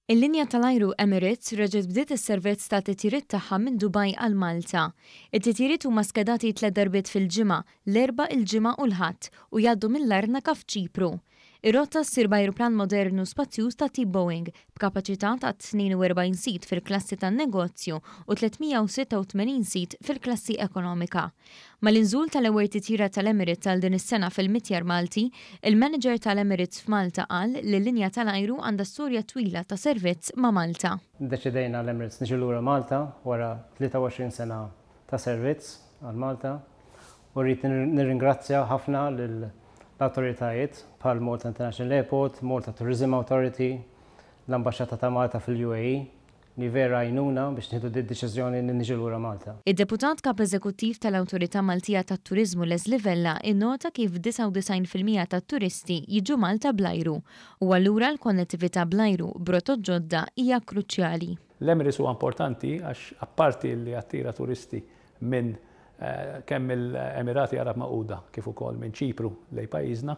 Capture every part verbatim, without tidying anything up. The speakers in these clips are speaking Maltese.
Il-linja tal-ajru Emirates reġgħet bdiet is-servizz ta' titjiriet tagħha minn Dubai għal Malta. It-titjiriet huma skedati tliet darbiet fil-ġimgħa, l-Erbgħa, il-Ġimgħa u l-Ħadd, u jgħaddu minn Larnaca f'Ċipru. Ir-rotta ssir b'ajruplan modernu spazjuż ta' tip Boeing b'kapaċità ta' tnejn u erbgħin seat fil-klassi tan-negozju u tliet mija u sitta u tmenin seat fil-klassi ekonomika. Mal-inżul tal-ewwel titjira tal-Emirates għal din is-sena fil-Mitjar Malti, il-manager tal-Emirates f'Malta qal li l-linja tal-ajru għandha storja twila ta' servizz ma' Malta. Deċidejna l-Emirates niġu lura Malta wara tlieta u għoxrin sena ta' servizz għal Malta u rrid nirringrazzja ħafna lil l-autoritajiet bħal Malta International Airport, Malta Tourism Authority, l-Ambaxxata ta' Malta fil-U A E li vera għenuna biex nieħdu di deċiżjoni li niġu lura Malta. Id-deputat kap eżekuttiv tal-Awtorità Maltija tat-Turiżmu Leslie Vella innota kif disgħa u disgħin fil-mija tat-turisti jiġu Malta bl-ajru u allura l-konnettività bl-ajru b'rotot ġodda hija kruċjali. L-Emirates huwa importanti għax apparti li attira turisti minn Eh, kemm il-Emirati Arab Magħquda kif ukoll minn Ċipru lejn pajjiżna,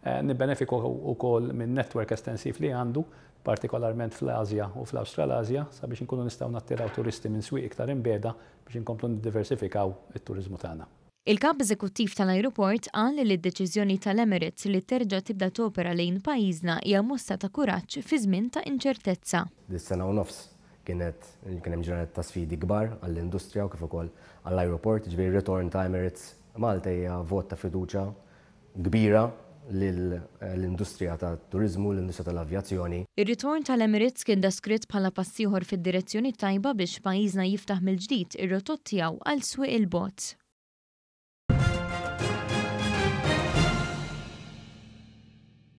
eh, nibbenefikaw ukoll minn network estensiv li għandu, partikolarment fl-Asja u fl-Awstralazja, sabiex inkunu nistgħu nattiraw turisti minn swieq iktar imbiegħda biex inkomplu niddiversifikaw it-turizmu tagħna. Il-kap eżekuttiv tal-ajruport qal li d-deċiżjoni tal-Emirates li terġa' tibda topera lejn pajjiżna hija mossa ta' kuraġġ fi żmien ta' inċertezza. Dis-sena u nofs kienet kien hemm ġranet ta' sfidi kbar għall-industrija u kif ukoll għall-ajruport, ġifieri ritorn ta' Emirates Malta hija vot ta' fiduċja kbira l-industrija ta' turiżmu, l-industrija tal-avjazzjoni. Ir-ritorn tal-Emirates kien deskritt bħala pass ieħor fid-direzzjoni tajba biex pajjiżna jiftaħ mill-ġdid ir-rotot tiegħu għal swieq il-bogħod.